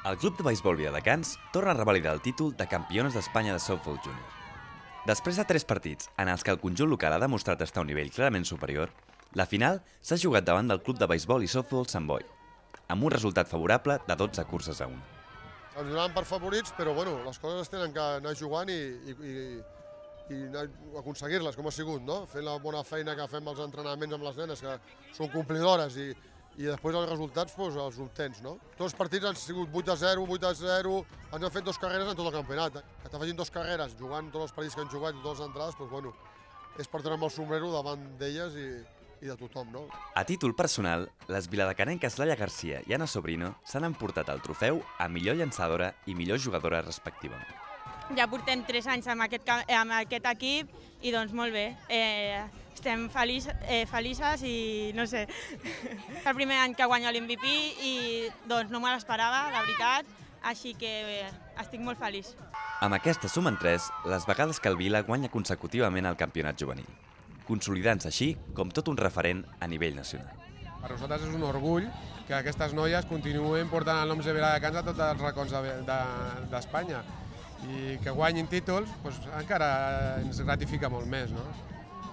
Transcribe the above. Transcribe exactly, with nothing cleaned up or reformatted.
El club de beisbol Viladecans torna a revalidar el títol de campiones d'Espanya de softball júnior. Després de tres partits en els que el conjunt local ha demostrat estar a un nivell clarament superior, la final s'ha jugat davant del club de beisbol i softball Sant Boi, amb un resultat favorable de dotze curses a una. Ens donaven per favorits, però bueno, les coses es tenen que anar jugant i, i, i, i aconseguir-les, com ha sigut, no? Fent la bona feina que fem als entrenaments amb les nenes, que són complidores, i, i després els resultats doncs, els obtens, no? Tots els partits han sigut vuit a zero, vuit a zero, ens han fet dues carreres en tot el campionat. Que t'afegin dues carreres jugant tots els partits que han jugat i totes les entrades, doncs, bueno, és per treure el sombrero davant d'elles i, i de tothom, no? A títol personal, les viladecanenques Laia Garcia i Anna Sobrino s'han emportat el trofeu a millor llançadora i millor jugadora respectivament. Ja portem tres anys amb aquest, amb aquest equip i doncs molt bé. Eh, estem feliç, eh, felices i no sé. És el primer any que guanyo l'M V P i doncs no me l'esperava, la veritat, així que eh, estic molt feliç. Amb aquesta sumen tres les vegades que el Vila guanya consecutivament el campionat juvenil, consolidant-se així com tot un referent a nivell nacional. Per nosaltres és un orgull que aquestes noies continuen portant el nom de Viladecans a tots els racons d'Espanya i que guanyin títols doncs, encara ens gratifica molt més, no?